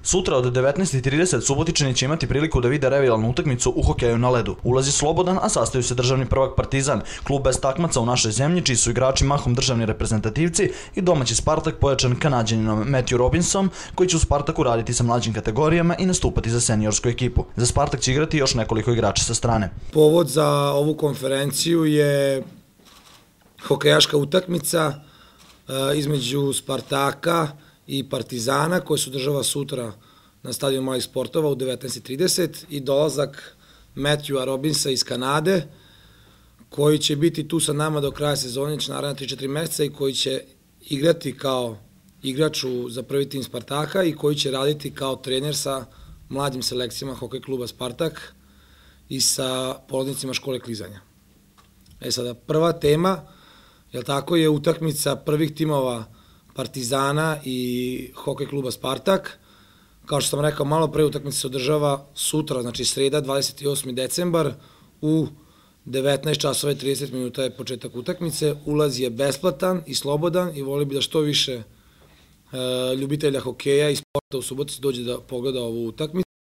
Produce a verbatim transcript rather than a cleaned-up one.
Sutra od devetnaest i trideset Subotičani će imati priliku da vide revijalnu utakmicu u hokeju na ledu. Ulaz je slobodan, a sastaju se državni prvak Partizan, klub bez takmaca u našoj zemlji, čiji su igrači mahom državni reprezentativci, i domaći Spartak pojačan Kanađaninom Matthew Robinsom, koji će u Spartaku raditi sa mlađim kategorijama i nastupati za seniorsku ekipu. Za Spartak će igrati još nekoliko igrača sa strane. Povod za ovu konferenciju je hokejaška utakmica između Spartaka i Partizana, koja se održava sutra na stadionu malih sportova u devetnaest i trideset, i dolazak Matthewa Robinsa iz Kanade, koji će biti tu sa nama do kraja sezone, će naravno tri do četiri meseca, i koji će igrati kao igrač za prvi tim Spartaka i koji će raditi kao trener sa mlađim selekcijama hokej kluba Spartak i sa polaznicima škole klizanja. E sada, prva tema, jel tako, je utakmica prvih timova Partizana i hokej kluba Spartak. Kao što sam rekao malo pre, utakmica se održava sutra, znači sreda, dvadeset osmi decembar, u devetnaest časova i trideset minuta je početak utakmice. Ulaz je besplatan i slobodan i voli bi da što više ljubitelja hokeja i sporta u Subotici dođe da pogleda ovu utakmicu.